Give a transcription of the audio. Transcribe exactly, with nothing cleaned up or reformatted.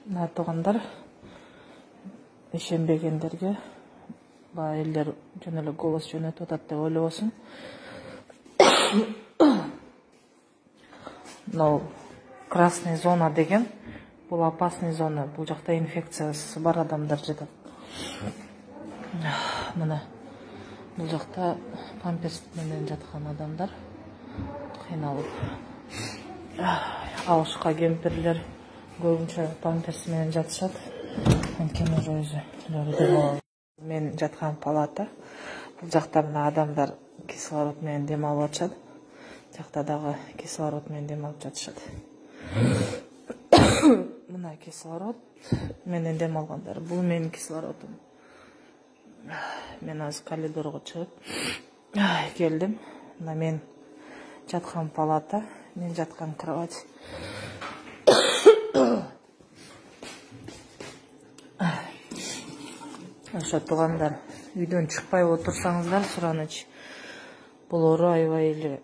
Мына туугандар, ишенбегендерге баягы элдер жөн эле голос жөнөтүп атат деп ойлобосун. Но красный зона деген бул опасный зона. Бул жакта инфекциясы бар адамдар жатат. Мына бул жакта памперс менен жаткан адамдар кыйналып. Алышка кемпирлер көбүнчө памперс менен жатышат. Анткени өзүлөрү мен жаткан палата. Бул жакта мына адамдар кислород менен дем алып атышат. Жакта дагы кислород менен дем алып жатышат. Мына кислород менен дем алгандар. Бул менин кислородум. Мен азыр коридорго чыгып келдим. Мына мен жаткан палата, мен жаткан кровать. Ошо туугандар, үйдөн чыкпай отурсаңыздар, сураныч. Бул оору аябай эле